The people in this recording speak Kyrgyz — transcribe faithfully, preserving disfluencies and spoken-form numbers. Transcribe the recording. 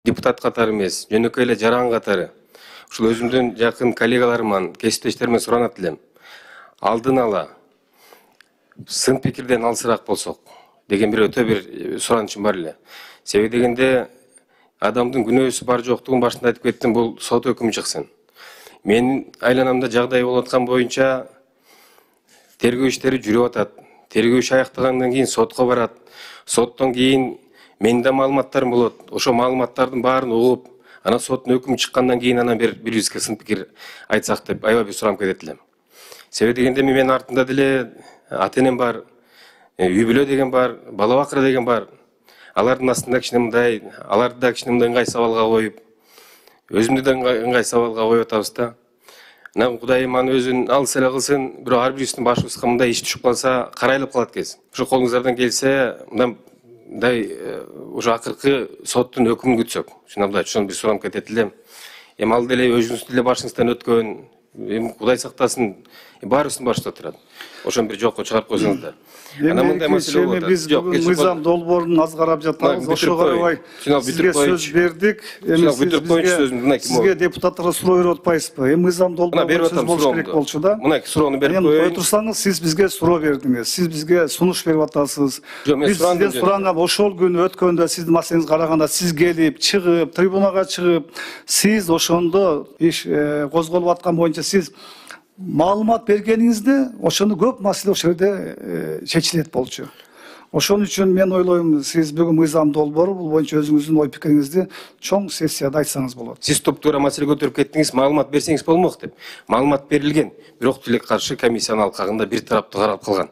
депутат катары эмес, жөнөкөй эле жаран катары ушул өзүмдүн жакын коллегаларыман, кесиптештеримден суранат элем. Алдын ала сын пикирден алысыраак болсок деген бир өтө бир суранычым бар эле. Себеби дегенде адамдын күнөөсү бар жоктугун башында айтып кеттим, бул сот өкүмү чыксын. Менин айланамда жагдай болуп аткан боюнча тергөө иштери жүрүп атат. Тергөө иши аяктагандан кийин сотко барат. Соттон кийин менин да маалыматтарым болот. Ошо маалыматтардын баарын угуп, анан соттун өкүмү чыккандан кийин анан бир бирибизге сын пикир айтсак деп аябай бир суранып кетет элем. Себеби дегенде менин артымда деле ата-энем бар, үй бүлө деген бар, бала бакыра деген бар. Алардын астында кичине мындай, аларды да кичине мындай ыңгай сабалга коюп, өзүмдү да ыңгай сабалга коюп атабыз да. Анан Кудайым аны өзүн алыс эле кылсын, бирок ар бирибиздин башыбызга мындай иш түшүп калса, карайлап калат экенбиз. Ошо колуңуздардан келсе, мындай уже акыркы соттун өкүмүн күтсөк. Шундай ошону бир суранып кетет элем. Эми ал деле өзүңүздүн деле башыңыздан өткөн, эми Кудай сактасын, баарыбыздын башыбызда турат. Ошону бир жокко чыгарып койсоңуздар. Анан мындай маселе болот. Биз бүгүн мыйзам долбоорун аз карап жатабыз. Ошого карабай сизге сөз бердик. Эми сизге депутаттарга суроо берип атпайсызбы? Эми мыйзам долбоорун сөз болуш керек болчу да. Мына суроону берип коеюн. Эми турсаңыз, сиз бизге суроо бердиңиз. Сиз бизге сунуш берип атасыз. Биз сизден суранган ошол күнү өткөндө сиздин маселеңизге караганда сиз келип, чыгып, трибунага чыгып, сиз ошондо иш козголуп аткан боюнча сиз маалымат бергениңизде ошондо көп маселе ошол жерде чечилет болчу. Ошон үчүн мен ойлойм, сиз бүгүн мыйзам долбоору бул боюнча өзүңүздүн ой пикириңизди чоң сессияда айтсаңыз болот. Сиз топтуура маселе көтөрүп кеттиңиз, маалымат берсеңиз болмок деп. Маалымат берилген, бирок тилекке каршы комиссиянын алкагында бир тараптуу каралып калган.